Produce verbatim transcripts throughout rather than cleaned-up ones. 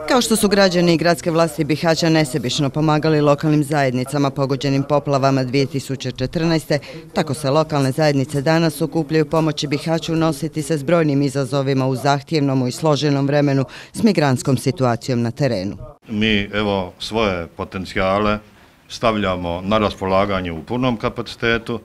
Kao što su građani i gradske vlasti Bihaća nesebično pomagali lokalnim zajednicama pogođenim poplavama dvije tisuće četrnaeste. tako se lokalne zajednice danas okupljaju pomoći Bihaću nositi se s brojnim izazovima u zahtjevnom i složenom vremenu s migrantskom situacijom na terenu. Mi evo svoje potencijale stavljamo na raspolaganje u punom kapacitetu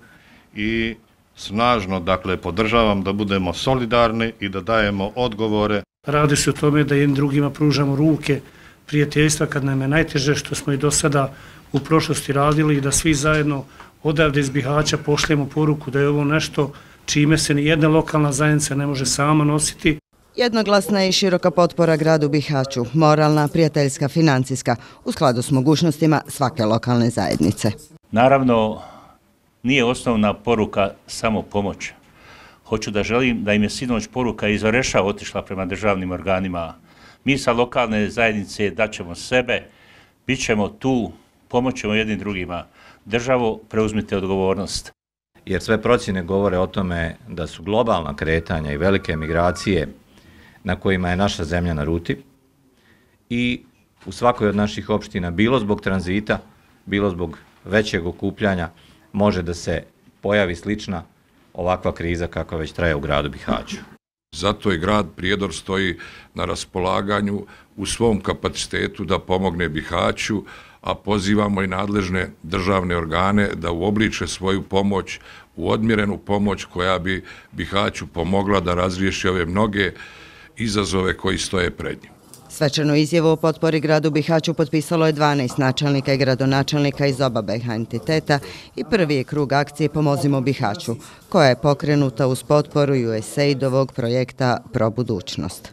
i snažno dakle podržavam da budemo solidarni i da dajemo odgovore. Radi se o tome da jednim drugima pružamo ruke prijateljstva kad nam je najteže, što smo i do sada u prošlosti radili, i da svi zajedno odavde iz Bihaća pošljemo poruku da je ovo nešto čime se ni jedna lokalna zajednica ne može sama nositi. Jednoglasna i široka potpora gradu Bihaću, moralna, prijateljska, financijska, u skladu s mogućnostima svake lokalne zajednice. Naravno, nije osnovna poruka samo pomoć. Hoću da želim da im je sinoć poruka iz Oreša otišla prema državnim organima. Mi sa lokalne zajednice daćemo sebe, bit ćemo tu, pomoćemo jednim drugima. Državo, preuzmite odgovornost. Jer sve procjene govore o tome da su globalna kretanja i velike migracije na kojima je naša zemlja na ruti i u svakoj od naših opština, bilo zbog tranzita, bilo zbog većeg okupljanja, može da se pojavi slična ovakva kriza kakva već traje u gradu Bihaću. Zato i grad Prijedor stoji na raspolaganju u svom kapacitetu da pomogne Bihaću, a pozivamo i nadležne državne organe da uobliče svoju pomoć u odmjerenu pomoć koja bi Bihaću pomogla da razriješi ove mnoge izazove koji stoje pred njim. Svečanu izjavu o potpori gradu Bihaću potpisalo je dvanaest načelnika i gradonačelnika iz oba B H entiteta i prvi je krug akcije Pomozimo Bihaću, koja je pokrenuta uz potporu U S A I D-ovog projekta Pro budućnost.